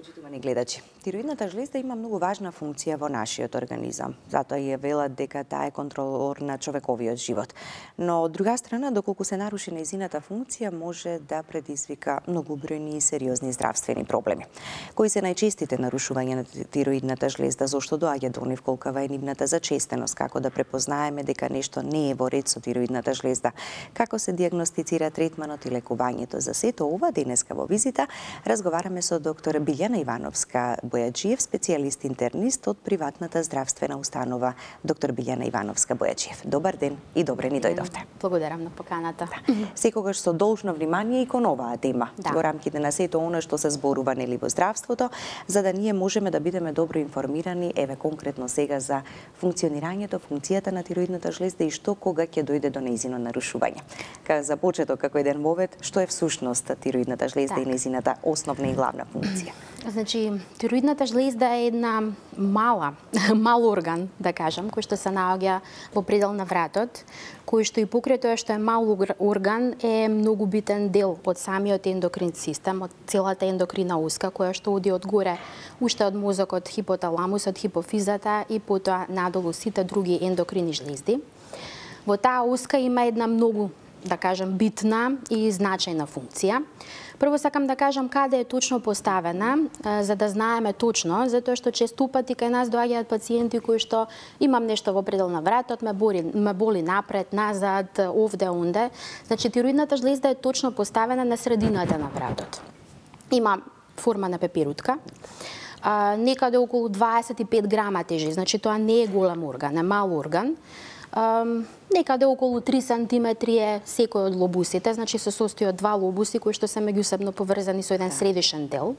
Почитувани гледачи, тироидната жлезда има многу важна функција во нашиот организам. Затоа ја велат дека таа е контролор на човековиот живот. Но од друга страна, доколку се наруши нејзината функција, може да предизвика многобројни и сериозни здравствени проблеми. Кои се најчестите нарушувања на тироидната жлезда, зошто доаѓа до нив, колкава е нивната зачестеност, како да препознаеме дека нешто не е во ред со тироидната жлезда, како се дијагностицира третманот и лекувањето. За сето ова денеска во визита разговараме со доктор Билјана Ивановска Бојаджиев, специјалист интернист од приватната здравствена установа доктор Билјана Ивановска Бојаджиев. Добар ден и добре ни дојдовте. Благодарам на поканата. Секогаш со должно внимание и кон оваа тема, во рамките на сето она што се зборува нели во здравството, за да ние можеме да бидеме добро информирани, еве конкретно сега за функционирањето, функцијата на тироидната жлезда и што кога ќе дојде до нејзино нарушување. За почеток, како еден вовед, што е всушност тироидната жлезда и нејзината основна и главна функција? Значи, тироидната жлезда е една мал орган, да кажам, кој што се наоѓа во предел на вратот, кој што и покрај тоа што е мал орган е многу битен дел од самиот ендокрин систем, од целата ендокрина уска, која што оди од горе, уште од мозокот, хипоталамусот, хипофизата и потоа надолу сите други ендокрини жлезди. Во таа уска има една многу, да кажам, битна и значајна функција. Прво сакам да кажам каде е точно поставена, за да знаеме точно, затоа што често пати кај нас доаѓаат пациенти кои што имам нешто во предел на вратот, ме боли напред, назад, овде, онде. Значи, тироидната жлезда е точно поставена на средината на вратот. Има форма на пеперутка, некаде околу 25 грама тежи, значи тоа не е голем орган, е мал орган. Некаде околу 3 сантиметри е секој од лобусите, значи се состои од два лобуси кои што се меѓусебно поврзани со еден средишен дел.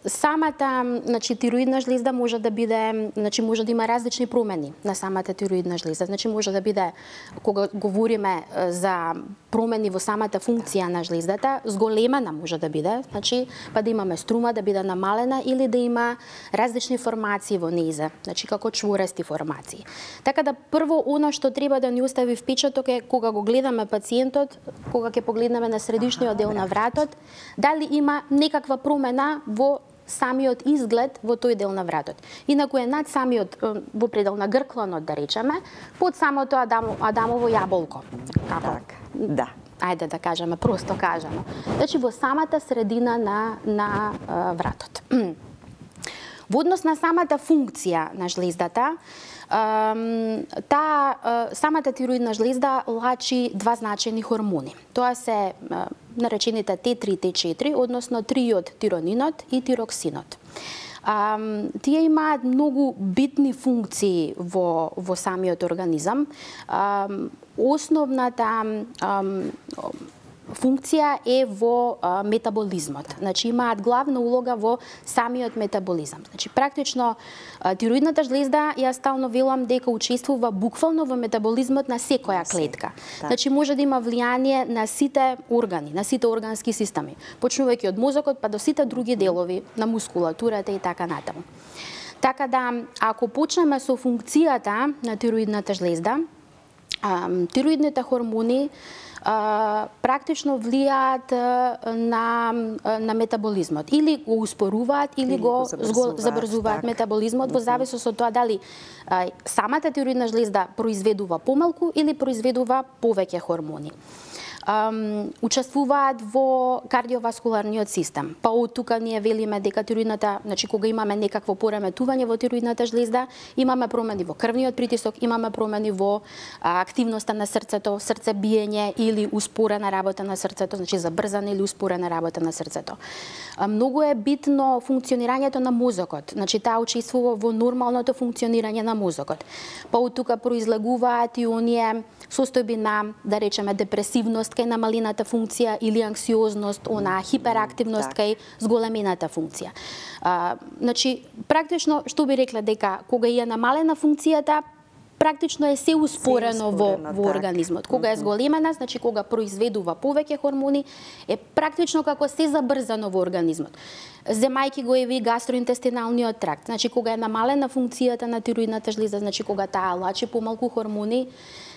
Самата, значи, тироидна жлезда може да биде, значи може да има различни промени на самата тироидна жлезда. Значи може да биде, кога говориме за промени во самата функција на жлездата, зголемена може да биде, значи па да имаме струма да биде намалена или да има различни формации во нејза, значи како чворести формации. Така да прво оно што треба да ни остави впечаток е кога го гледаме пациентот, кога ќе погледнеме на средишниот дел на вратот, дали има некаква промена во самиот изглед во тој дел на вратот. Инаку е над самиот, во предел на гркланот, да речеме, под самото Адамово јаболко. Да. Ајде да кажеме, просто кажано. Значи во самата средина на вратот. Во однос на самата функција на жлездата, самата тироидна жлезда лачи два значајни хормони. Тоа се наречените Т3 и Т4, односно триот тиронинот и тироксинот. Тие имаат многу битни функции во самиот организам. Основната функција е во метаболизмот. Значи имаат главна улога во самиот метаболизам. Значи практично тироидната жлезда, ја стално велам дека учествува буквално во метаболизмот на секоја клетка. Значи може да има влијание на сите органи, на сите органски системи, почнувајќи од мозокот па до сите други делови на мускулатурата и така натаму. Така да, ако почнеме со функцијата на тироидната жлезда, тироидните хормони практично влијаат на метаболизмот. Или го успоруваат, или го забрзуваат метаболизмот, во зависност од тоа дали самата тироидна жлезда произведува помалку или произведува повеќе хормони. Учествуваат во кардиоваскуларниот систем. Па од тука ние велиме дека тироидната, значи кога имаме некакво пореметување во тироидната жлезда, имаме промени во крвниот притисок, имаме промени во активноста на срцето, срцебиење или успорена работа на срцето, значи забрзана или успорена работа на срцето. Многу е битно функционирањето на мозокот, значи таа учествува во нормалното функционирање на мозокот. Па од тука произлегуваат и оние состојби на, да речеме, депресивност кај намалената функција или анксиозност, она хиперактивност кај зголемената функција. Значи, практично, што би рекла дека кога е намалена функцијата, практично е се успорено во организмот. Кога е зголемена, значи кога произведува повеќе хормони, е практично како се забрзано во организмот. Земајки го и гастроинтестиналниот тракт, значи кога е намалена функцијата на тироидната жлезда, значи кога таа лачи помалку хормони,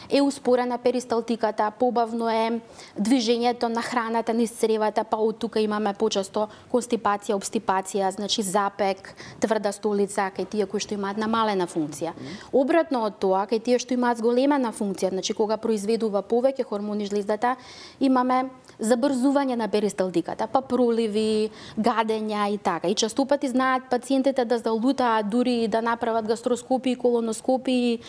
е успорена перисталтиката, побавно е движењето на храната низ цревата, па од тука имаме почесто констипација, обстипација, значи запек, тврда столица, кај тие кои што имаат намалена функција. Обратно од тоа, кај тие што имаат зголемена функција, значи кога произведува повеќе хормони жлездата, имаме забрзување на перисталтиката, па проливи, гадења и така. И често пати знаат пациентите да залутаат дури да направат гастроскопии, колоноскопии,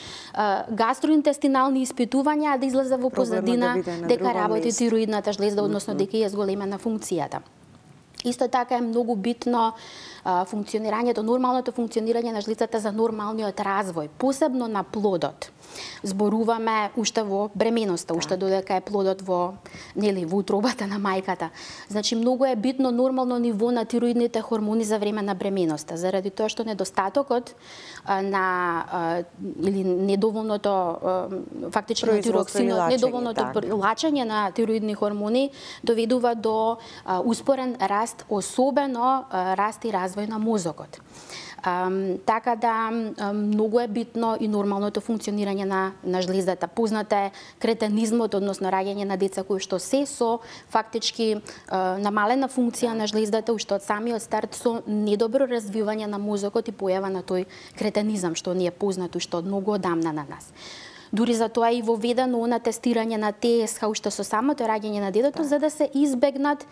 гастроинтестинални испитувања, да излезе во позадина дека работи тироидната жлезда, односно дека е зголемена функцијата. Исто така е многу битно функционирањето, нормалното функционирање на жлезата за нормалниот развој, посебно на плодот. Зборуваме уште во бременоста, уште додека е плодот во утробата на мајката. Значи многу е битно нормално ниво на тироидните хормони за време на бременоста, заради тоа што недостатокот на или недоволното фактично тироксинот, недоволното лачење на тироидни хормони доведува до успорен раст, особено раст и развој на мозокот. Така да многу е битно и нормалното функционирање на жлездата. Познат е кретенизмот, односно раѓање на деца кои што се со фактички намалена функција на жлездата уште од самиот старт со недобро развивање на мозокот и појава на тој кретенизам што ни е познат уште од многу одамна на нас. Дури за тоа и воведено на тестирање на ТСХ уште со самото раѓање на детето, за да се избегнат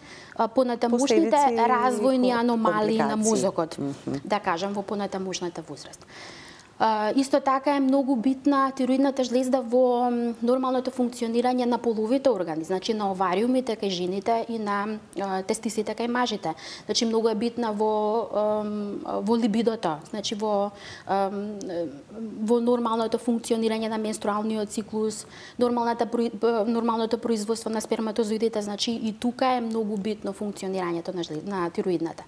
понатамушните развојни аномалии на мозокот, да кажам, во понатамушната возраст. Исто така е многу битна тироидната жлезда во нормалното функционирање на половите органи, значи на овариумите кај жените и на тестисите кај мажите. Значи многу е битна во либидото, значи во нормалното функционирање на менструалниот циклус, нормалното производство на сперматозоидите, значи и тука е многу битно функционирањето на тироидната.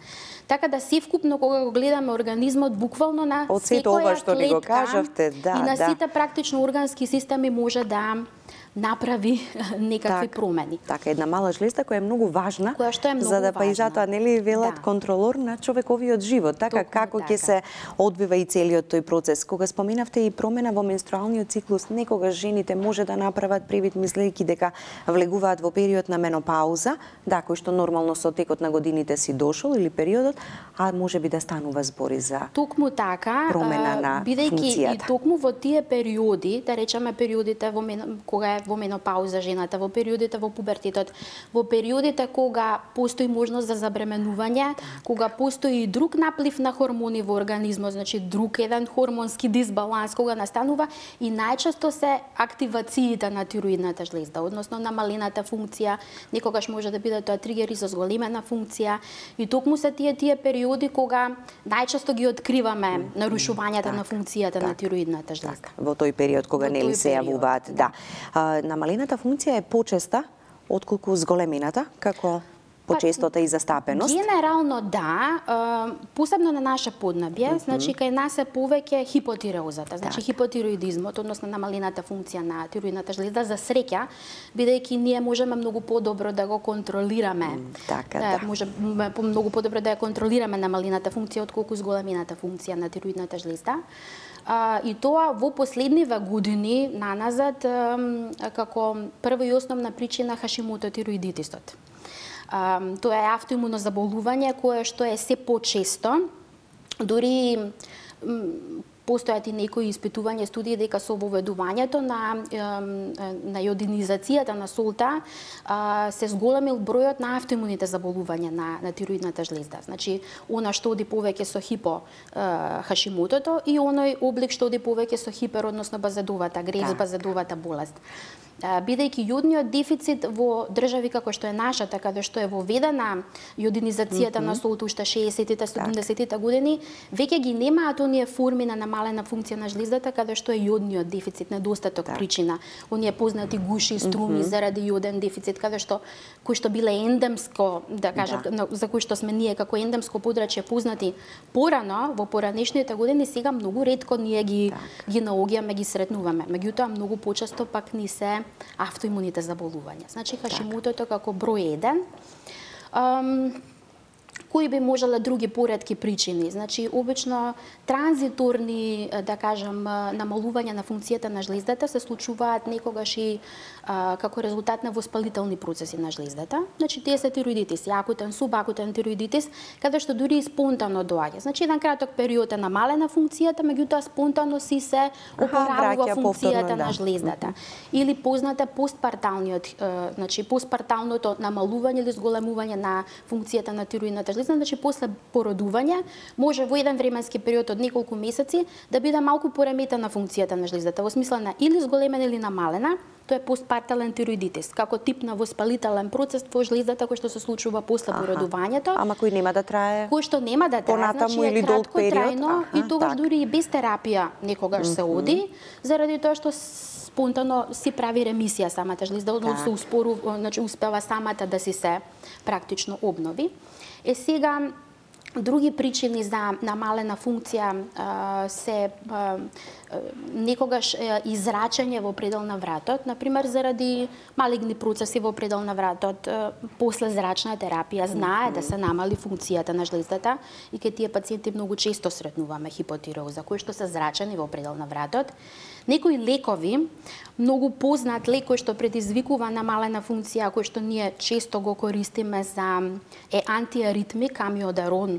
Така да севкупно кога го гледаме организмот буквално на секоја клетка го кажавте, и на сите практично органски системи може да направи некакви промени. Така, една мала жлезда која е многу важна, за да па и затоа нели велат контролор на човековиот живот, така како ќе се одвива и целиот тој процес. Кога споменавте и промена во менструалниот циклус, некогаш жените може да направат привид мислејќи дека влегуваат во период на менопауза, кој што нормално со текот на годините си дошол или периодот, а можеби да станува збори за токму така, промена на функцијата. И токму во тие периоди, да речеме периодите кога е во менопауза жената, во периодите во пубертетот, во периодите кога постои можност за забременување, кога постои и друг наплив на хормони во организмот, значи друг еден хормонски дисбаланс кога настанува, и најчесто се активациите на тироидната жлезда, односно намалената функција, некогаш може да биде тоа тригери со зголемена функција, и токму се тие периоди кога најчесто ги откриваме нарушувањата на функцијата на тироидната жлезда. Во тој период кога нели се јавуваат, намалената функција е почеста отколку зголемената, како почестота и застапеност? Генерално посебно на наше поднебје, значи кај нас е повеќе хипотиреозата, значи хипотироидизмот, односно намалената функција на тироидната жлезда, за среќа, бидејќи ние можеме многу подобро да го контролираме. Можеме многу подобро да ја контролираме намалената функција отколку зголемената функција на тироидната жлезда. И тоа во последниве години наназад како прва и основна причина Хашимото тироидитисот. Тоа е автоимуно заболување кое што е се почесто, дури постојат и некои испитувања, студии дека со воведувањето на јодинизацијата на солта се зголемил бројот на автоимуните заболувања на тироидната жлезда. Значи, она што оди повеќе со хипо Хашимотото и оној облик што оди повеќе со хипер, односно базедовата, базедовата болест. Бидејќи јодниот дефицит во држави како што е нашата, каде што е воведена јодинизацијата на солта уште 60-тите, 70-тите години, веќе ги немаат оние форми на намалена функција на жлездата, каде што е јодниот дефицит, недостаток причина. Оние познати гуши, струми заради јоден дефицит, кои што биле ендемско, да кажам, за кои што сме ние како ендемско подрачје познати порано, во поранешните години, сега многу ретко ние ги наоѓаме, ги сретнуваме. Меѓутоа, многу почесто пак ни се автоимуните заболувања. Значи, Хашимотото како број 1. кои би можеле други поретки причини. Значи, обично транзиторни, да кажам, намалување на функцијата на жлездата се случуваат некогаш и како резултат на воспалителни процеси на жлездата. Значи, тие се тироидитис, акутен, субакутен тироидитис, каде што дури и спонтано доаѓа. Значи, еден краток период е намалена функцијата, меѓутоа спонтано си се опоравува функцијата на жлездата. Или позната постпарталниот, значи постпарталното намалување или зголемување на функцијата на тироидната жлезда, значи после породување може во еден временски период од неколку месеци да биде малку пореметена функцијата на жлездата, во смисла на или зголемена или намалена. Тоа е постпартален тироидитис, како тип на воспалителен процес во жлездата кој што се случува после породувањето. Ама кој нема да трае? Кој што нема да трае, значи е кратко трајно и тогаш дури и без терапија некогаш се оди, заради тоа што спонтано си прави ремисија самата жлезда, односно се успорува, значи успева самата да си се практично обнови. Сега други причини за намалена функција се некогаш израчање во предел на вратот, например заради малигни процеси во предел на вратот, после зрачна терапија знае да се намали функцијата на жлездата и кај тие пациенти многу често сретнуваме хипотиреоза кои што се зрачани во предел на вратот. Некои лекови, многу познат лек кој што предизвикува намалена функција, кој што ние често го користиме е антиаритмик, амиодарон,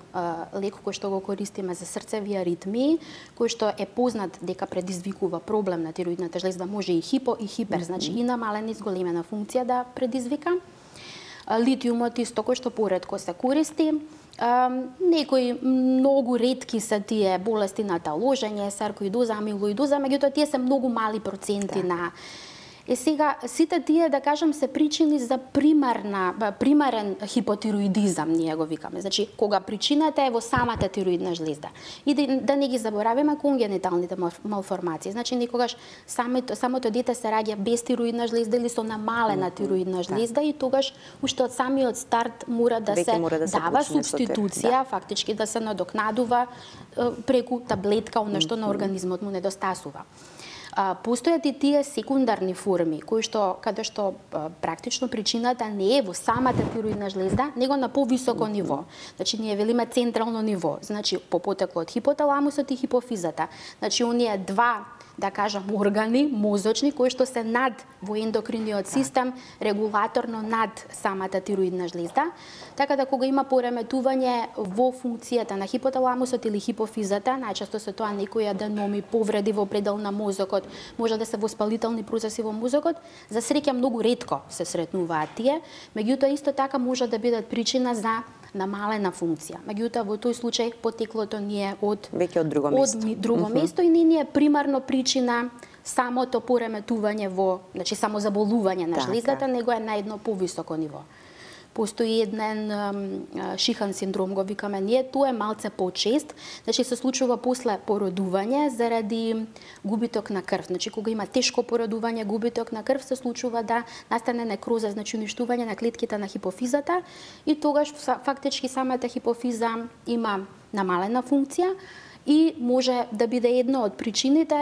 лек кој што го користиме за срцеви аритмии, кој што е познат дека предизвикува проблем на тироидната жлезда, може и хипо и хипер, значи и намалена и зголемена функција да предизвика. Литиумот исто кој што поретко се користи. Некои многу ретки се тие болести на таложење, саркоидоза, амилоидоза, меѓутоа тие се многу мали проценти на. Сега, сите тие, да кажам, се причини за примарен хипотироидизам, ние го викаме. Значи, кога причината е во самата тироидна жлезда. И да не ги забораваме конгениталните малформации. Значи, некогаш самото дете се раѓа без тироидна жлезда или со намалена тироидна жлезда и тогаш уште од самиот старт мора да се дава субституција, фактички да се надокнадува преку таблетка, она што на организмот му недостасува. Постојат и тие секундарни форми, каде што практично причината не е во самата тироидна жлезда, него на повисоко ниво. Значи, ние велиме централно ниво, значи по потекло од хипоталамусот и хипофизата. Значи, оние два, да кажам, органи мозочни кои што се над во ендокриниот систем, регулаторно над самата тироидна жлезда. Така да кога има пореметување во функцијата на хипоталамусот или хипофизата, најчесто се тоа некои аденоми, повреди во предел на мозокот, може да се воспалителни процеси во мозокот, за среќа многу ретко се сретнуваат тие, меѓутоа исто така може да бидат причина за намалена функција. Меѓутоа во тој случај потеклото не е од друго место и не е примарно причина самото пореметување значи само заболување на жлездата, него е на едно повисоко ниво. Постои еден шихан синдром, го викаме ние, тоа е малце почест, значи се случува после породување заради губиток на крв. Значи кога има тешко породување, губиток на крв, се случува да настане некроза, значи уништување на клетките на хипофизата и тогаш фактички самата хипофиза има намалена функција и може да биде една од причините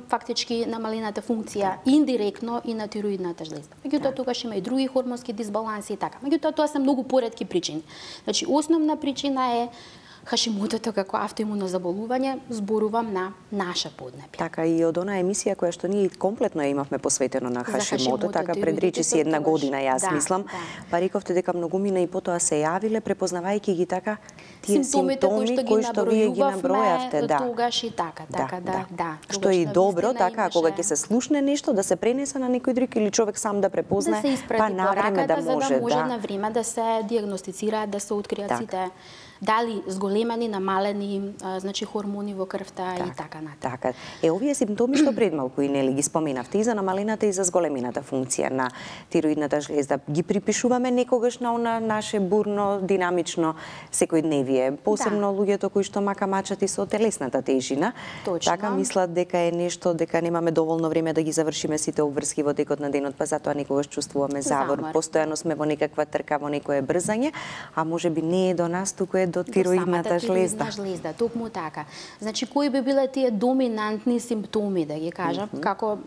фактички намалената функција индиректно и на тироидната жлезда. Меѓутоа тогаш има и други хормонски дисбаланси и така. Меѓутоа тоа се многу поретки причини. Значи основна причина е Хашимотото како автоимуно заболување, зборувам на наша поднебје. Така и од она емисија која што ние комплетно ја имавме посветено на Хашимото, така пред речиси една година, јас мислам, па рековте дека многумина и потоа се јавиле препознавајќи ги така тие симптоми кои што вие ги набројавте, тогаш и така, да. Што е добро, така, кога ќе се слушне нешто, да се пренесе на некој друг или човек сам да препознае, па на време да може, за да може на време да се диагностицираат, да се откријат сите дали зголемени, намалени, значи хормони во крвта и така натаму. Така. Овие симптоми што пред малку и нели ги споменавте и за намалената и за зголемената функција на тироидната жлезда, ги припишуваме некогаш на она наше бурно, динамично секојдневие, посебно луѓето кои што мачат и со телесната тежина. Точно. Така мислат дека е нешто, дека немаме доволно време да ги завршиме сите обврски во текот на денот, па затоа некогаш чувствуваме завор. Постојано сме во некаква трка, во некое брзање, а можеби не е до нас, туку е дојде до тироидната жлезда. Жлезда, токму така. Значи кои би биле тие доминантни симптоми, да ги кажам, како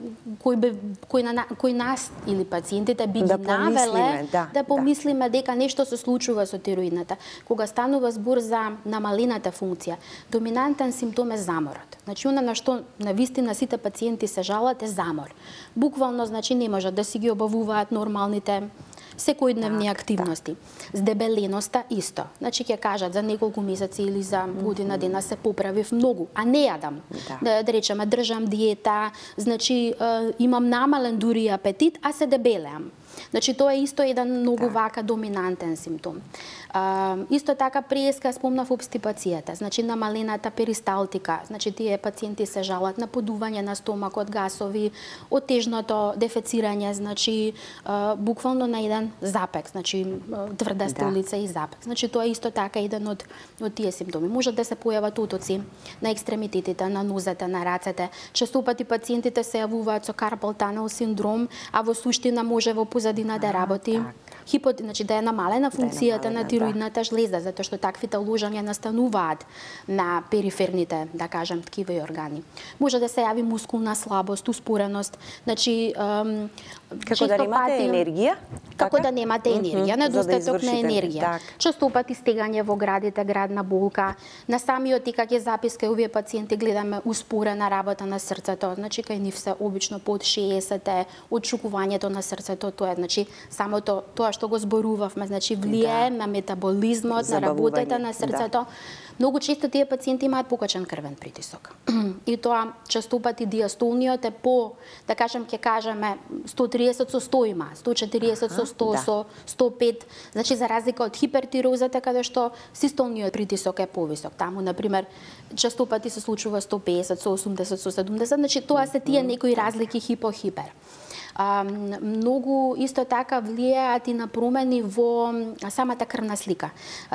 кој нас или пациентите би ги навеле да помислиме дека нешто се случува со тироидната. Кога станува збор за намалената функција, доминантен симптом е заморот. Значи она на што навистина сите пациенти се жалат е замор. Буквално, значи, не можат да си ги обавуваат нормалните секојдневни активности. Здебеленоста исто. Значи ќе кажат за неколку месеци или за година дена се поправив многу, а не јадам. Да речеме држам диета, значи имам намален дури апетит, а се дебелеам. Значи тоа е исто еден многу вака доминантен симптом. Исто така преска спомнав обстипацијата, значи намалената перисталтика, значи тие пациенти се жалат на подување на стомакот, гасови, отежното дефецирање, значи буквално на еден запек, значи тврда столица и запек. Значи тоа е исто така еден од тие симптоми. Можат да се појават отоци на екстремитетите, на нозете, на рацете. Често пати пациентите се јавуваат со карпал танел синдром, а во суштина може во позадина да работи значи да е намалена функцијата на тироидната жлезда, затоа што таквите ложања настануваат на периферните, да кажам, ткива и органи. Може да се јави мускулна слабост, успореност, значи како да немате енергија? Како да немате енергија, недостаток на енергија. Често пати стегање во градите, градна болка. На самиот ИКГ запис кај овие пациенти гледаме успорена работа на срцето, значи кај нив се обично под 60, отшукувањето на срцето, тоа е, значи самото тоа што го зборувавме, значи влијае на метаболизмот, на работата на срцето. Многу често тие пациенти имаат покачен крвен притисок. И тоа често пати диастолниот е по, да кажам, ќе кажеме 130 со 100 има, 140 со 100, со 105. Значи за разлика од хипертирозата каде што систолниот притисок е повисок. Таму на пример често пати се случува 150 со 80 со 70, значи тоа се тие некои разлики хипо-хипер. Многу исто така влијаат и на промени во самата крвна слика.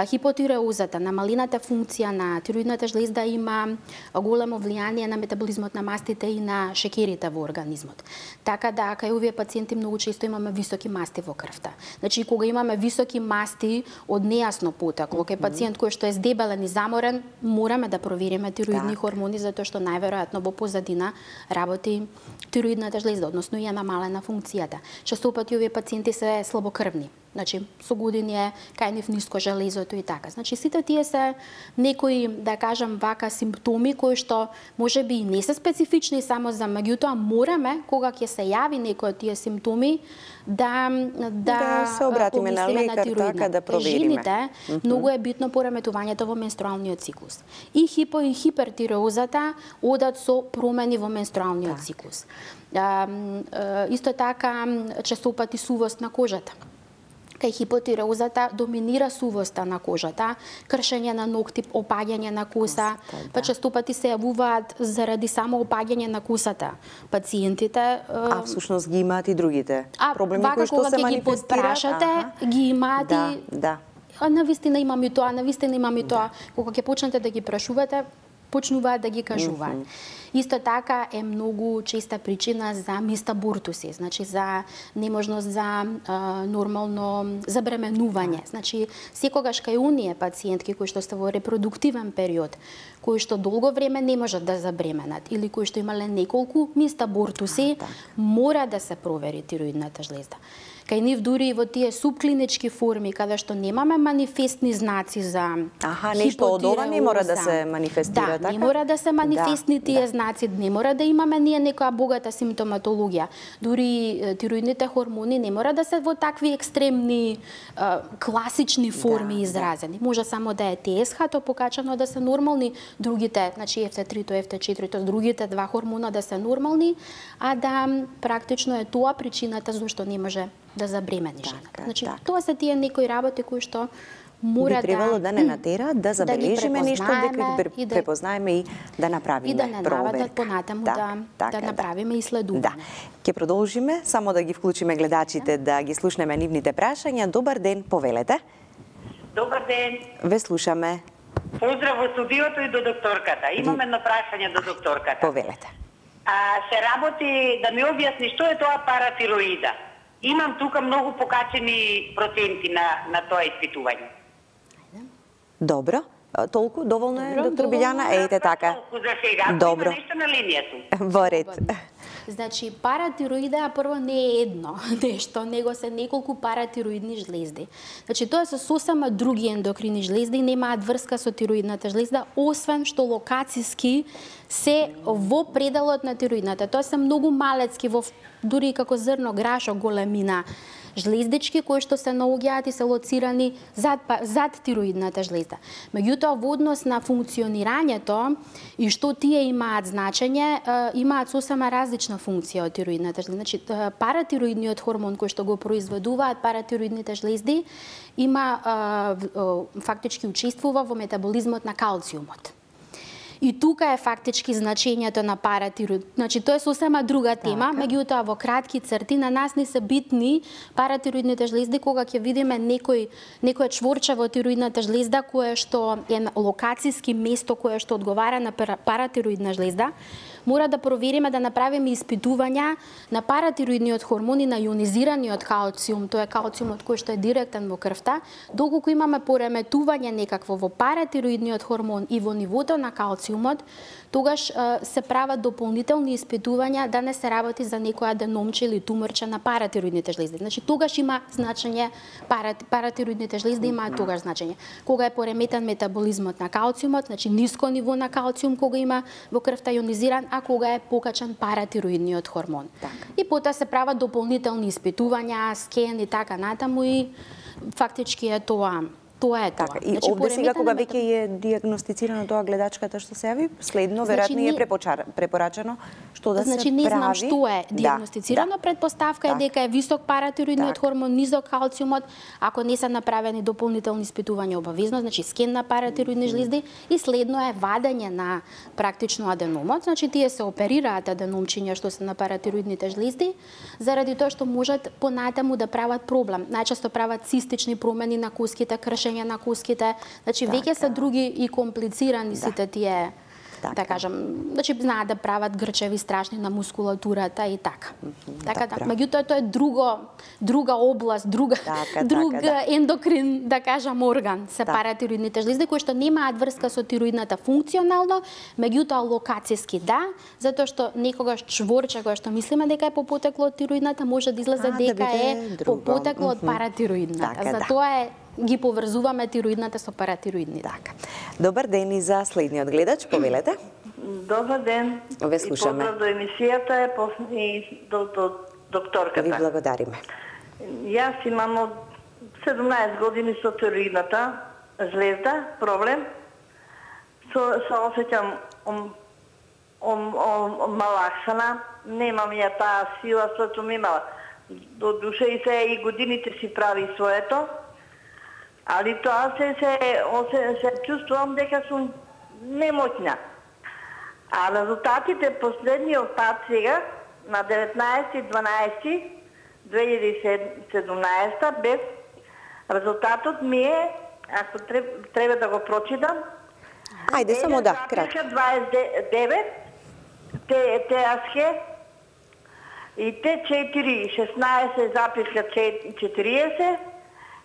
Хипотиреозата, намалената функција на тироидната жлезда има големо влијание на метаболизмот на мастите и на шеќерите во организмот. Така да кај овие пациенти многу често имаме високи масти во крвта. Значи кога имаме високи масти од нејасно потекло, кај пациент кој што е здебелен и заморен, мораме да провериме тироидни хормони затоа што најверојатно во позадина работи тироидната жлезда, односно ја намалена функцијата. Често пати овие пациенти се слабокрвни. Значи, со години е кај нив ниско железото и така. Значи, сите тие се некои, да кажам, вака симптоми кои што можеби и не се специфични само за, меѓутоа мораме кога ќе се јави некои од тие симптоми да се обратиме на лекар, така да провериме. Жените многу е битно пореметувањето во менструалниот циклус. И хипо и хипертиреозата одат со промени во менструалниот циклус. Исто така често пати сувост на кожата. Кај хипотиреозата доминира сувоста на кожата, кршење на ногти, опаѓање на коса, па често пати се јавуваат заради само опаѓање на косата пациентите. А всушност ги имаат и другите проблеми кои што се манифестираат? Ги имаат и навистина имам и тоа, навистина имам и тоа. Кога ќе почнете да ги прашувате, почнуваат да ги кажуваат. Исто така е многу честа причина за мистабуртуси, значи за неможност за нормално забременување. Значи секогаш кај оние пациентки кои што се во репродуктивен период, кои што долго време не можат да забременат или кои што имале неколку мистабуртуси, мора да се провери тироидната жлезда. Кај нив дури и во тие субклинички форми, каде што немаме манифестни знаци за нешто од ова не мора да се манифестира, така? Не мора да се манифестни тие знаци, не мора да имаме ние некоја богата симптоматологија. Дури тироидните хормони не мора да се во такви екстремни, класични форми изразени. Може само да е ТСХ-то покачано да се нормални, другите, значи FT3-то, FT4-то, другите два хормона да се нормални, а да практично е тоа причината зашто не може да забремени жената. Значи, тоа се тие некои работи кои што мора би требало да не натераат да забележиме нешто, дека ги препознаеме и да направиме и да не наведат понатаму да направиме исследување. Ќе продолжиме, само да ги вклучиме гледачите да ги слушнеме нивните прашања. Добар ден, повелете. Добар ден. Ве слушаме. Поздрав во студиото и до докторката. Имам едно прашање до докторката. Повелете. Се работи да ми објасни што е тоа паратироида. Имам тука многу покачени проценти на тоа испитување. Добро. Толку доволно е, Добро, доктор доволно Билјана? е. Ејте така. Толку за сега. Добро. Има нешто на линијата. Во ред. Значи, паратироидеа прво не е едно нешто, него се неколку паратироидни жлезди. Значи, тоа се сосема други ендокрини жлезди, немаат врска со тироидната жлезда, освен што локациски се во пределот на тироидната. Тоа се многу малецки, дури како зрно грашо големина жлездички кои што се наоѓаат и се лоцирани зад тироидната жлезда. Меѓутоа, во однос на функционирањето и што тие имаат значење, имаат сосема различна функција од тироидната жлезда. Значи, паратироидниот хормон кој што го произведуваат паратироидните жлезди има фактички учествува во метаболизмот на калциумот. И тука е фактички значењето на паратироид. Значи, тоа е сосема друга тема, меѓутоа во кратки црти на нас не се битни паратироидните жлезди кога ќе видиме некој чворче во тироидната жлезда кое што е локациски место кое што одговара на паратироидна жлезда. Мора да провериме, да направиме испитувања на паратироидниот хормон и на ионизираниот калциум, тоа е калциумот кој што е директен во крвта, доколку имаме пореметување некакво во паратироидниот хормон и во нивото на калциумот, тогаш се прават дополнителни испитувања да не се работи за некоја аденомче или туморче на паратироидните жлезди. Значи, тогаш има значење, паратироидните жлезди имаат тогаш значење. Кога е пореметен метаболизмот на калциумот, значи ниско ниво на калциум кога има во крвта ионизиран, а кога е покачен паратироидниот хормон. И потоа се прават дополнителни испитувања, скен и така натаму и фактички е тоа. Тоа е тоа. Така, и овде сега кога веќе е диагностицирано тоа гледачката што се јави, следно веројатно е препорачено што да се прави. Значи не знам што е диагностицирано, предпоставка е дека е висок паратироидниот хормон, низок калциумот, ако не се направени дополнителни испитувања обавезно, значи скен на паратироидни жлезди и следно е вадење на практично аденомот, значи тие се оперираат аденомчиња што се на паратироидните жлезди, заради тоа што можат понатаму да прават проблем. Најчесто прават цистични промени на куските, кршење на куските, значи веќе се други и комплицирани сите тие, да кажам, значи знаат да прават грчеви страшни на мускулатурата и така. Така да, меѓутоа тоа е друга област, друг ендокрин, да кажам, орган, се паратироидните жлезди кои што немаат врска со тироидната функционално, меѓутоа локациски да, затоа што некогаш чворче кое што мислиме дека е по потекло од тироидната може да излезе дека е по потекло од паратироидната. Затоа е ги поврзуваме тироидната со паратироидните. Така. Добар ден и за следниот гледач, повелете. Добар ден. Ве слушаме. И поздрав до емисијата и до докторката. Ви благодариме. Јас имам од 17 години со тироидната жлезда, проблем. Се осеќам малаксана, немам ја таа сила што ми имала. До 60 годините си прави своето. Али тоа се чувствувам дека сум немоќна. А резултатите последниот пат сега, на 19.12.2017 без резултатот ми е, ако треба да го прочитам, ајде само да, кратко. 29, ТАСХ и Т4 16,40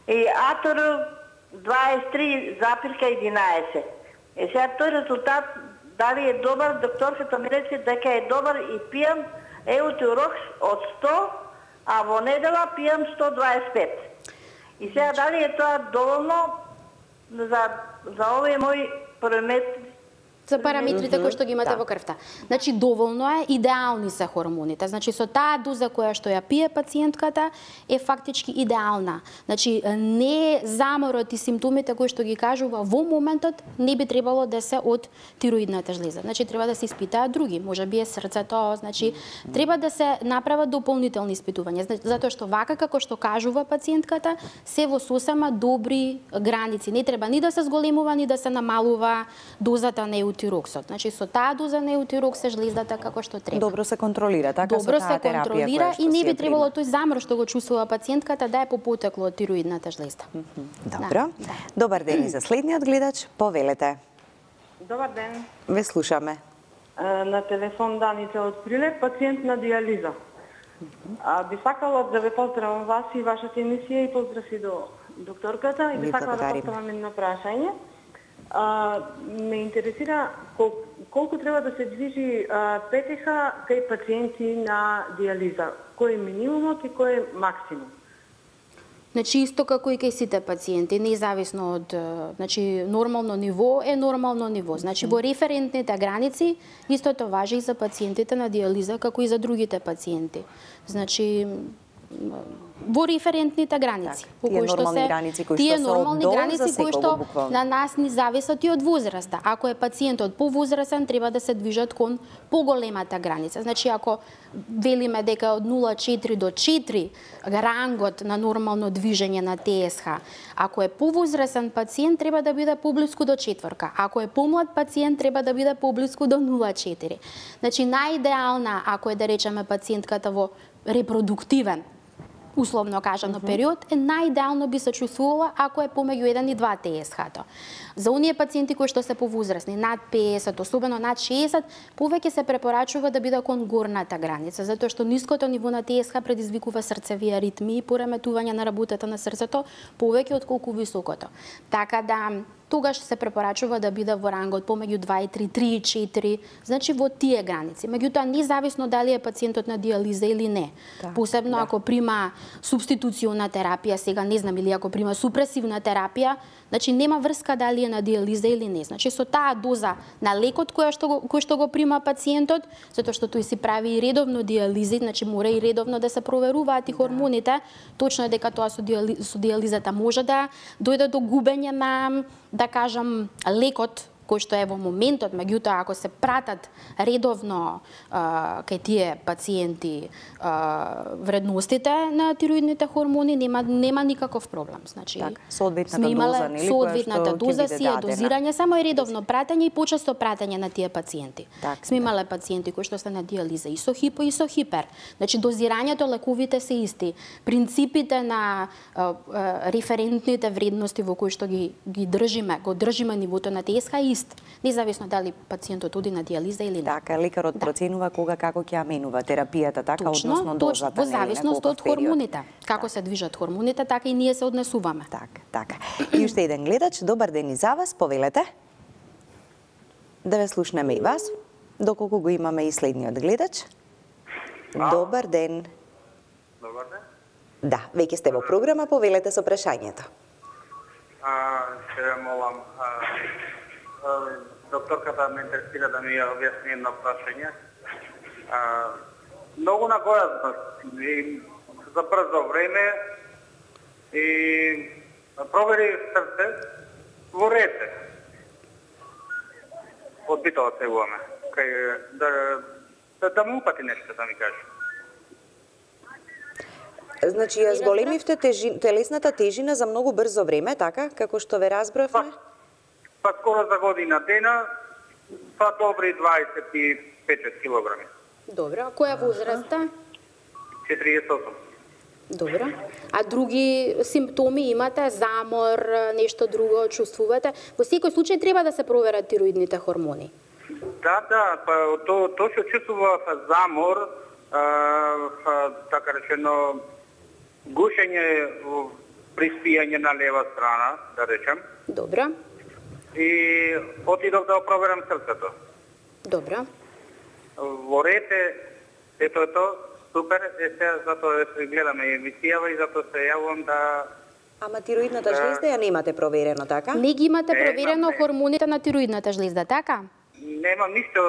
и АТР 23,11. Сега тој резултат дали е добар, докторката ми рече дека е добар и пијам Еутирокс од 100, а во недела пијам 125. И сега дали е тоа доволно за овој мој параметри? За параметрите кои што ги имате во крвта. Значи доволно е, идеални се хормоните. Значи со таа доза која што ја пие пациентката е фактички идеална. Значи не заморот и симптомите кои што ги кажува во моментот не би требало да се од тироидната жлеза. Значи треба да се испитаат други, можеби е срцето, значи треба да се направат дополнителни испитувања, затоа што вака како што кажува пациентката се во сосема добри граници. Не треба ни да се зголемува, ни да се намалува дозата на еутироксот. Значи со таа доза на еутирокс се жлездата како што треба. Добро се контролира, така добро со таа терапија. Добро се контролира и не би требало тој замор што го чувствува пациентката да е по потекло од тироидната жлезда. Добро. Добар ден и за следниот гледач, повелете. Добар ден. Ве слушаме. На телефон Даница од Прилеп, пациент на диализа. Би сакала да ве поздравам вас и вашата емисија и поздрав и до докторката и би сакала да поставам едно прашање. Ме интересира колку треба да се движи ПТХ кај пациенти на диализа. Кој е минимумот и кој е максимум? Значи, исто како и кај сите пациенти, независно од, значи, нормално ниво е нормално ниво. Значи, во референтните граници, истото важи и за пациентите на диализа, како и за другите пациенти. Значи, во референтните граници. Тие нормални граници кои тие што се нормални оддолу граници за кои секого, што буквално. на нас ни зависат и од возраста. Ако е пациентот повозрасен, треба да се движат кон поголемата граница. Значи, ако велиме дека од 0,4 до 4 рангот на нормално движење на ТСХ, ако е повозрасен пациент, треба да биде поблиску до 4. Ако е помлад пациент, треба да биде поблиску до 0,4. Значи, најидеална, ако е да речеме пациентката во репродуктивен, условно кажано период, е најидеално би се чувствувала ако е помеѓу 1 и 2 ТСХ-то. За оние пациенти кои што се повозрасни, над 50, особено над 60, повеќе се препорачува да биде кон горната граница, затоа што ниското ниво на ТСХ предизвикува срцеви аритми и пореметување на работата на срцето повеќе отколку високото. Така да тогаш се препорачува да биде во рангот помеѓу 2 и 3, 3 и 4, значи во тие граници. Меѓутоа, независно дали е пациентот на диализа или не. Посебно ако прима субституциона терапија, сега не знам, или ако прима супресивна терапија, значи нема врска дали е на диализа или не. Значи со таа доза на лекот кој што го прима пациентот, затоа што тој си прави и редовно диализи, значи мора и редовно да се проверуваат и хормоните, точно е дека тоа со диализата може да дојде до губење на, да кажам, лекот кој што е во моментот, меѓутоа ако се пратат редовно кај тие пациенти вредностите на тироидните хормони, нема никаков проблем. Значи, соодветната доза, нели, соодветната доза си е дозирање, само е редовно пратење и почесто пратење на тие пациенти. Сме имале пациенти кои што се на диализа и со хипо и со хипер. Значи дозирањето, лековите се исти. Принципите на референтните вредности во кои што ги држиме нивото на ТСХ е ист, независно дали пациентот оди на диализа или не. Така, лекарот проценува кога како ќе ја менува терапијата, така, односно дозата. Во зависност од хормоните. Како се движат хормоните, така и ние се однесуваме. Така. И уште еден гледач, добар ден и за вас, повелете. Да ве слушнеме и вас, доколку го имаме и следниот гледач. Добар ден. Добар ден. Да, веќе сте во програма, повелете со прашањето. Се молам, докторката ме интересира да ми ја објасни едно прашање. Многу на гојазност и за брзо време и провери срце во рете. Од Битола сегуваме. Да му упати нешто, да ми каже. Значи, ја зголемивте телесната тежина за многу брзо време, така, како што ве разбравме? Па скоро за година дена, па добри 25 килограми. Добро, а која возраста? 48. Добро. А други симптоми имате? Замор, нешто друго чувствувате? Во секој случај треба да се проверат тироидните хормони. Да, па тоа што чувствува замор, така речено, гушење при спијање на лева страна, да речем. Добро. И отидов да проверам срцето. Добро. Во рете, ето супер, сега затоа се гледаме емисијава и затоа се јавувам да... Ама тироидната жлезда ја немате проверено, така? Не ги имате проверено хормоните на тироидната жлезда, така? Немам ништо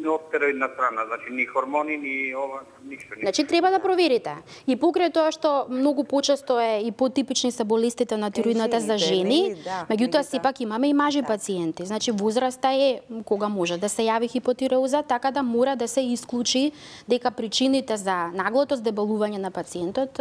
од тироидна страна, значи ни хормони, ни ова, ништо. Значи треба да проверите. И покрај тоа што многу почесто е и потипични се болестите на тироидната за жени, меѓутоа сепак имаме и мажи пациенти. Значи возраста е кога може да се јави хипотиреоза, така да мора да се исклучи дека причините за наглото здебелување на пациентот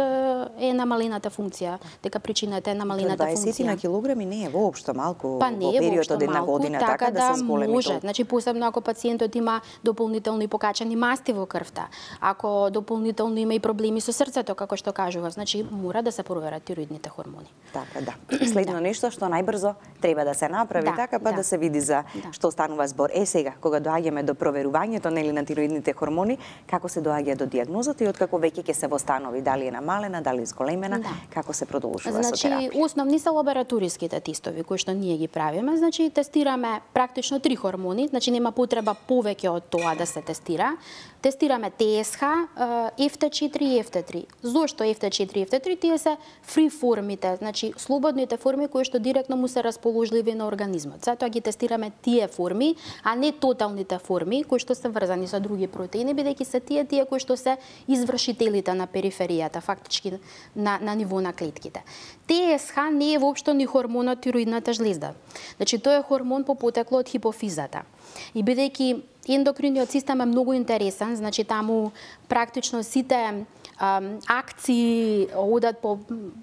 е намалената функција, дека причината е намалената функција. 20 на килограми не е воопшто малку Па не во е период воопшто од една малку, година, така да се зголеми може. толку. Значи посебно ако пациентот има дополнително и покачани масти во крвта, ако дополнително има и проблеми со срцето, како што кажував, значи мора да се проверат тироидните хормони. Така, да. Следно нешто што најбрзо треба да се направи, така па да се види за што станува збор. Сега, кога доаѓаме до проверувањето нели на тироидните хормони, како се доаѓа до дијагнозата и откако веќе ќе се востанови дали е намалена, дали е зголемена, како се продолжува со терапија? Значи, основни се лабораториските тестови кои што ние ги правиме. Значи, тестираме практично 3 хормони, значи нема потреба повеќе од тоа да се тестира. Тестираме ТСХ, FT4 и FT3. Зошто FT4 и FT3? Тие се фри формите, значи слободните форми кои што директно му се расположливи на организмот. Затоа ги тестираме тие форми, а не тоталните форми кои што се врзани со други протеини, бидејќи се тие кои што се извршителите на периферијата, фактички на ниво на клетките. ТСХ не е воопшто ни хормон од тироидната жлезда. Значи тој е хормон по потекло од хипофизата. И бидејќи ендокриниот систем е многу интересен, значи таму практично сите акции одат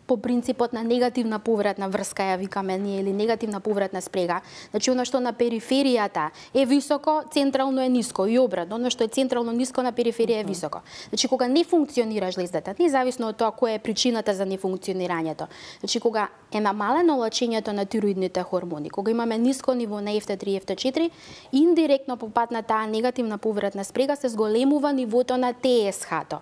по принципот на негативна повратна врска, ја викаме ние, или негативна повратна спрега. Значи, оно што на периферијата е високо, централно е ниско, и обратно, оно што е централно ниско, на периферија е високо. Значи, кога не функционира жлездата, независно од тоа која е причината за нефункционирањето, значи, кога е намалено лачењето на тироидните хормони, кога имаме ниско ниво на FT3 и FT4, индиректно по пат на таа негативна повратна спрега се зголемува нивото на ТСХ-то.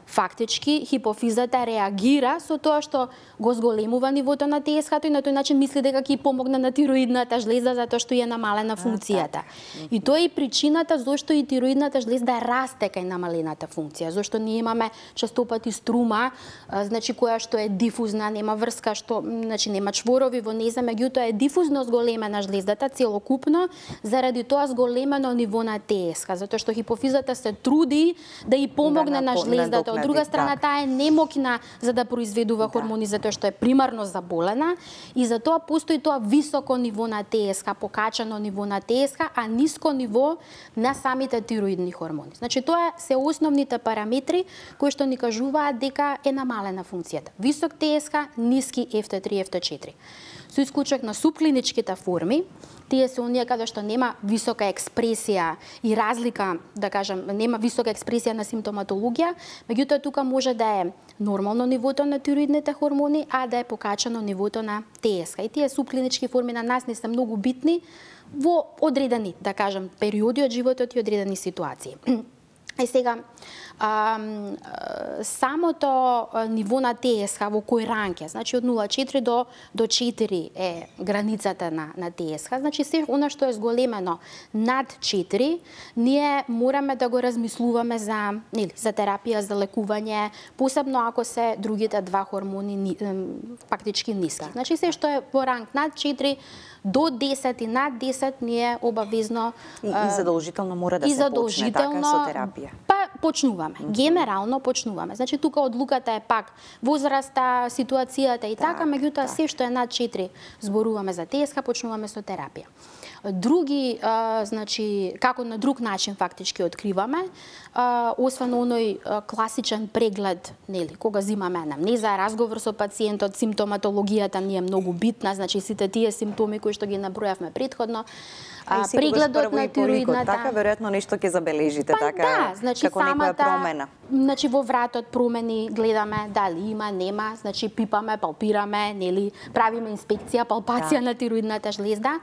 Фактички, хипофизата реагира со тоа што го зголемува нивото на ТСХ-то и на тој начин мисли дека ќе помогне на тироидната жлезда затоа што е намалена функцијата. И тоа е причината зошто и тироидната жлезда расте кај намалената функција, зошто ние имаме честопати струма, значи која што е дифузна, нема врска, што значи нема чворови во нејза, меѓутоа е дифузно зголемена жлездата целокупно заради тоа зголемено ниво на ТСХ, затоа што хипофизата се труди да и помогне на жлездата. Од друга страна, таа е немокна за да произведува хормони затоа што е примарно заболена и затоа постои тоа високо ниво на ТСХ, покачано ниво на ТСХ, а ниско ниво на самите тироидни хормони. Значи тоа се основните параметри кои што ни кажуваат дека е намалена функцијата. Висок ТСХ, ниски FT3 и FT4. Со исклучок на субклиничките форми, тие се оние каде што нема висока експресија и разлика, да кажам, нема висока експресија на симптоматологија, меѓутоа тука може да е нормално нивото на тироидните хормони, а да е покачано нивото на ТСХ. И тие субклинички форми на нас не се многу битни во одредени, да кажам, периоди од животот и одредени ситуации. И сега, самото ниво на ТСХ во кој ранг е, значи од 0,4 до 4 е границата на ТСХ, значи се она што е зголемено над 4, ние мораме да го размислуваме за терапија, за лекување, посебно ако се другите два хормони фактички ниски. Значи се што е во ранг над 4 до 10 и над 10 ние обавезно и задолжително мора да се почне така со терапија. Па почнуваме. Генерално почнуваме. Значи тука одлуката е пак возраста, ситуацијата и така, меѓутоа се што е над 4 зборуваме за ТСХ, почнуваме со терапија. Други, значи, како на друг начин фактички откриваме, освен оној класичен преглед, нели, кога земаме анамнеза, разговор со пациентот, симптоматологијата ни е многу битна, значи сите тие симптоми кои што ги набројавме претходно, прегледот на тироидната. Така веројатно нешто ќе забележите, така, да, значи, како некоја промена. Значи во вратот промени, гледаме дали има, нема, значи пипаме, палпираме, нели, правиме инспекција, палпација на тироидната жлезда.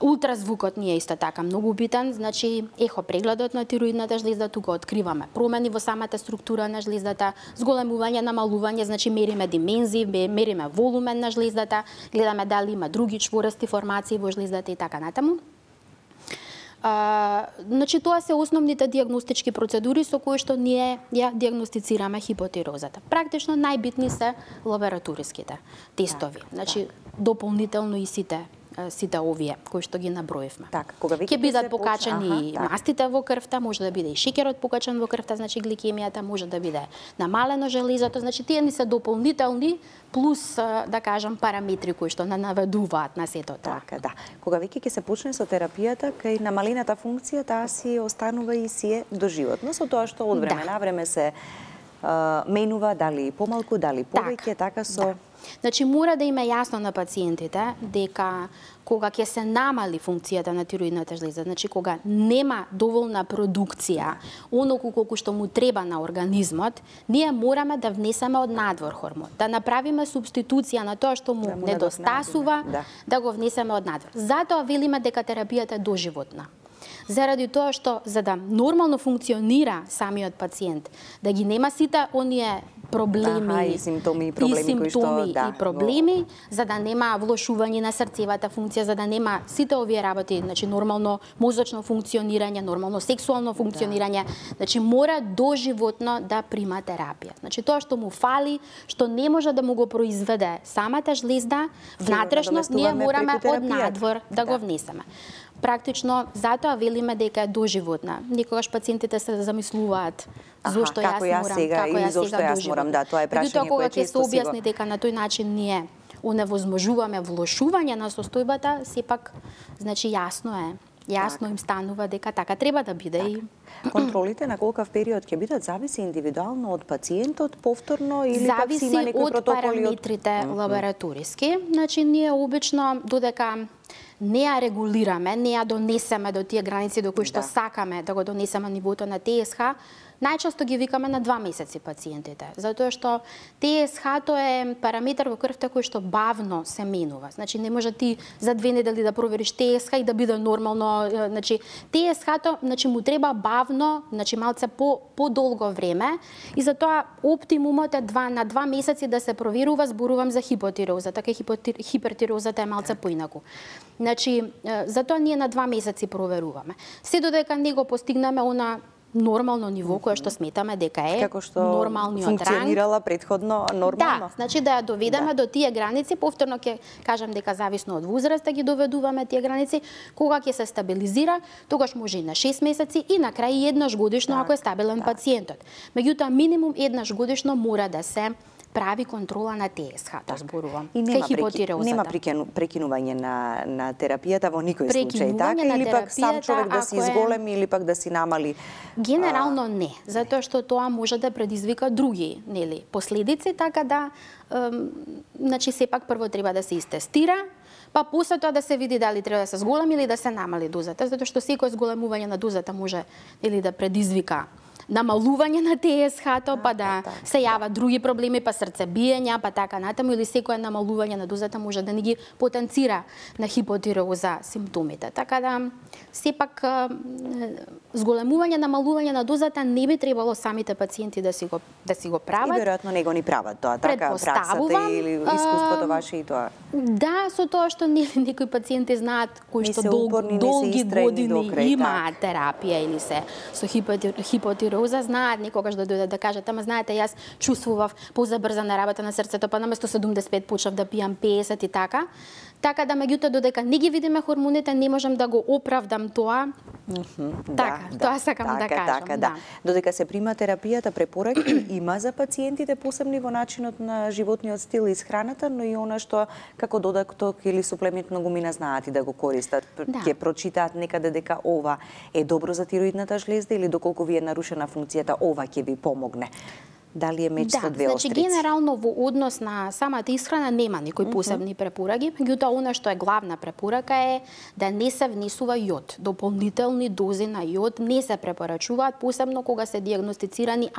Ултразвукот ни е исто така многу битен, значи ехо прегледот на тироидната жлезда, тука откриваме промени во самата структура на жлездата, зголемување, намалување, значи мериме димензии, мериме волумен на жлездата, гледаме дали има други чворсти формации во жлездата и така натаму. Значи тоа се основните дијагностички процедури со кои што ние ја дијагностицираме хипотирозата. Практично најбитни се лабораториските тестови. Значи дополнително и сите овие кои што ги наброивме. Кога ќе бидат покачани мастите во крвта, може да биде и шеќерот покачен во крвта, значи гликемијата, може да биде намалено железото, значи тие ни се дополнителни плюс, да кажам, параметри кои што наведуваат на сето тоа. Така, да. Кога веќе ќе се почне со терапијата, кај намалената функција, таа си останува и си е доживотно, со тоа што од време на време се менува, дали помалку, дали повеќе, така со... Значи мора да има јасно на пациентите дека кога ќе се намали функцијата на тироидната жлеза, значи кога нема доволна продукција, оноку колку што му треба на организмот, ние мораме да внесеме од надвор хормон, да направиме субституција на тоа што му недостасува, да го внесеме од надвор. Затоа велиме дека терапијата е доживотна. Заради тоа што за да нормално функционира самиот пациент, да ги нема сите оние проблеми и симптоми и проблеми, за да нема влошување на срцевата функција, за да нема сите овие работи, значи нормално мозочно функционирање, нормално сексуално функционирање, значи мора доживотно да прима терапија. Значи тоа што му фали, што не може да му го произведе самата жлезда, внатрешно ние мораме од надвор да го внесеме. Практично, затоа велиме дека е доживотна. Никогаш пациентите се замислуваат зошто јас морам, тоа е прашање кое често се објасни дека на тој начин ние оневозможуваме влошување на состојбата, сепак, значи јасно им станува дека така треба да биде и контролите на колкав период ќе бидат зависи индивидуално од пациентот повторно или пак си има некои протоколи? Зависи од параметрите лабораториски. Значи ние обично додека не ја регулираме, не ја донесеме до тие граници до кои што сакаме да го донесеме нивото на ТСХ, најчесто ги викаме на 2 месеци пациентите, затоа што ТСХ-то е параметар во крвта кој што бавно се менува. Значи не може ти за 2 недели да провериш ТСХ и да биде нормално, значи ТСХ-то, значи му треба бавно, значи малце по-долго време и затоа оптимумот е на 2 месеци да се проверува, зборувам за хипотироза, така хипертирозата е малце поинаку. Значи затоа ние на 2 месеци проверуваме. Се додека не го постигнеме она нормално ниво кое што сметаме дека е како што нормалниот ранг. Функционирала претходно нормално. Да, значи да ја доведеме до тие граници, повторно ќе кажам дека зависно од возраста ги доведуваме тие граници, кога ќе се стабилизира, тогаш може и на 6 месеци и на крај еднаш годишно ако е стабилен пациентот. Меѓутоа минимум еднаш годишно мора да се прави контрола на ТСХ, зборувам. И нема прекинување на терапијата во никој случај, така? Или пак сам човек да се изголеми или пак да си намали? Генерално не, затоа што тоа може да предизвика други, нели, последици, така да значи сепак прво треба да се истестира, па после тоа да се види дали треба да се зголеми или да се намали дозата, затоа што секој зголемување на дозата може или да предизвика намалување на ТСХ-то, па да се јават други проблеми, па срцебиења, па така натаму, или секое намалување на дозата може да ни ги потенцира на хипотироза симптомите. Така да, сепак, зголемување, намалување на дозата не би требало самите пациенти да си го прават. И веројатно не го ни прават тоа, така, праксата или искуството ваше и тоа. Да, со тоа што некои пациенти знаат кои што долги години имаат терапија или се со хипотироза, знаат некогаш да дојдат да кажат, ама знаете, јас чувствував позабрзана работа на срцето, па наместо 75 почнав да пијам 50 и така. Така да, меѓутоа, додека не ги видиме хормоните, не можам да го оправдам тоа. Тоа сакам да кажам. Да. Додека се прима терапијата, препораки има за пациентите посебни во начинот на животниот стил и исхраната, но и она што како додаток или суплемент многумина знаат и да го користат. Ќе прочитаат некаде дека ова е добро за тироидната жлезда или доколку ви е нарушена функцијата, ова ќе ви помогне. Дали е меч со две острици? Значи генерално во однос на самата исхрана нема никои посебни препораки, меѓутоа она што е главна препорака е да не се внесува јод. Дополнителни дози на јод не се препорачуваат, посебно кога се дијагностицирано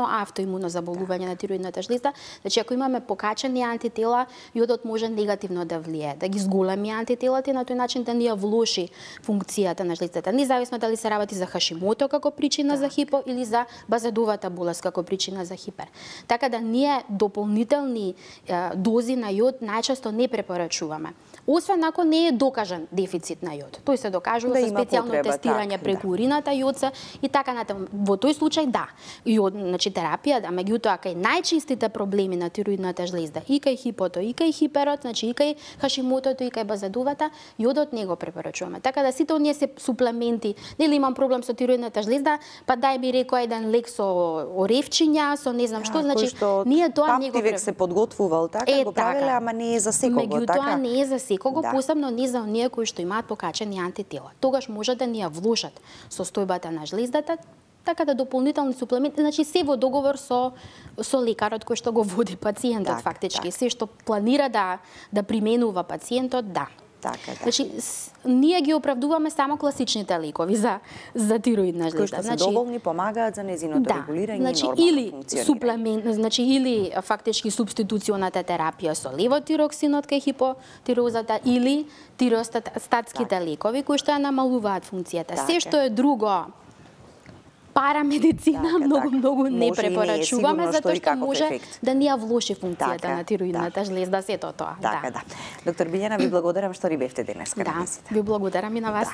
автоимуно заболување на тироидната жлезда. Значи ако имаме покачени антитела, јодот може негативно да влие, да ги зголеми антителата и на тој начин да ни ја влоши функцијата на жлездата. Независно дали се работи за Хашимото како причина за хипо или за базедовата болест како причина за хипер. Така да ние дополнителни дози на јод најчесто не препорачуваме. Освен ако не е докажан дефицит на јод. Тој се докажува со специјално тестирање преку урината јодца и така натаму. Во тој случај да. Јод, значи терапија, да, меѓутоа кај најчистите проблеми на тироидната жлезда, и кај хипото, и кај хиперот, значи и кај Хашимотото, и кај базедовата, јодот не го препорачуваме. Така да сите оние се суплементи, нели имам проблем со тироидната жлезда, па дај ми рекој еден лек со оревчиња, со не знам што, значи ние тоа не го век се подготвувал така, го правеле, ама не е за секого, така. Меѓутоа не е за секого, посебно не за оние кои што имаат покачени антитела. Тогаш може да ни ја влошат состојбата на жлездата, така да дополнителни суплементи, значи се во договор со лекарот кој што го води пациентот фактички, се што планира да применува пациентот, да. Така, Значи, ние ги оправдуваме само класичните лекови за тироидна жлезда. Кои што се доволни, помагаат за незиното регулирање и нормално функционирање. Суплемент, или фактички субституционата терапија со левотироксинот кај хипотирозата или тиростатските лекови кои што ја намалуваат функцијата. Се што е друго парамедицина многу не препорачуваме затоа што може да ни ја влоши функцијата на тироидната жлезда, сето тоа. Така, да. Доктор Билјана, ви благодарам што ни бевте денес. Да, ви благодарам и на вас.